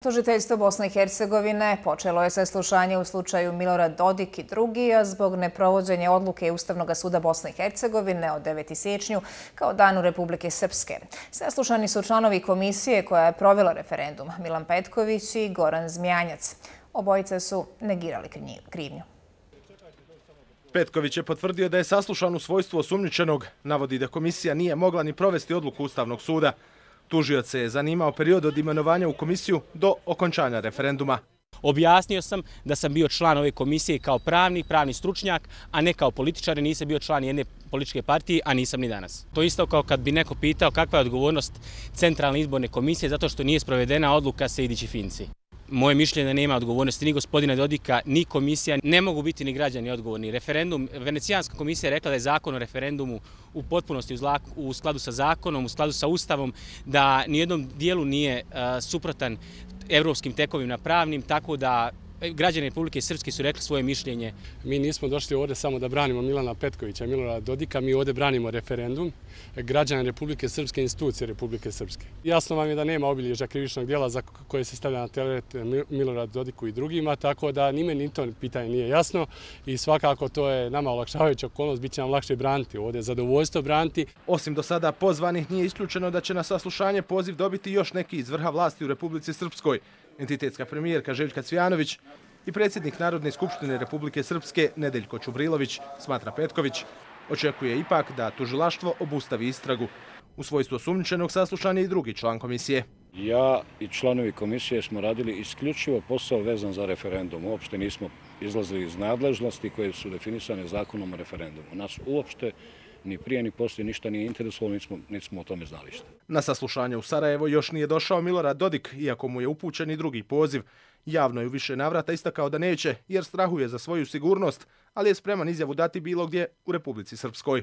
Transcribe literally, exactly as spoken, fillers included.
Tužiteljstvo Bosne i Hercegovine počelo je saslušanje u slučaju Milorad Dodik i drugi, a zbog neprovođenja odluke Ustavnog suda Bosne i Hercegovine od devetog siječnja kao danu Republike Srpske. Saslušani su članovi komisije koja je provela referendum, Milan Petković i Goran Zmijanjac. Obojice su negirali krivnju. Petković je potvrdio da je saslušan u svojstvu osumnjičenog, navodi da komisija nije mogla ni provesti odluku Ustavnog suda. Tužioc se je zanimao period od imenovanja u komisiju do okončanja referenduma. Objasnio sam da sam bio član ove komisije kao pravnik, pravni stručnjak, a ne kao političar, nisam bio član jedne političke partije, a nisam ni danas. To isto kao kad bi neko pitao kakva je odgovornost Centralne izborne komisije zato što nije sprovedena odluka Sejdić i Finci. Moje mišljenje da nema odgovornosti ni gospodina Dodika, ni komisija, ne mogu biti ni građani odgovorni. Referendum, Venecijanska komisija je rekla da je zakon o referendumu u potpunosti u skladu sa zakonom, u skladu sa Ustavom, da nijednom dijelu nije suprotan evropskim tekovima pravnim, tako da građani Republike Srpske su rekli svoje mišljenje. Mi nismo došli ovdje samo da branimo Milana Petkovića i Milorada Dodika, mi ovdje branimo referendum građana Republike Srpske i institucije Republike Srpske. Jasno vam je da nema obilježja krivičnog djela za koje se stavlja na teret Miloradu Dodiku i drugima, tako da ni meni to pitanje nije jasno i svakako to je nama olakšavajuća okolnost, bit će nam lakše braniti ovdje, zadovoljstvo braniti. Osim do sada pozvanih nije isključeno da će na saslušanje poziv dobiti još neki iz vrha vlasti u Republici Srpskoj. Entitetska premijerka Željka Cvijanović i predsjednik Narodne skupštine Republike Srpske Nedeljko Čubrilović, smatra Petković, očekuje ipak da tužilaštvo obustavi istragu. U svojstvu osumnjičenog saslušan je i drugi član komisije. Ja i članovi komisije smo radili isključivo posao vezan za referendum. Uopšte nismo izlazili iz nadležnosti koje su definisane zakonom o referendumu. Nas uopšte ni prije ni poslije ništa nije interesovalo, niti smo o tome znali šta. Na saslušanje u Sarajevo još nije došao Milorad Dodik, iako mu je upućen i drugi poziv. Javno je u više navrata istakao da neće, jer strahuje za svoju sigurnost, ali je spreman izjavu dati bilo gdje u Republici Srpskoj.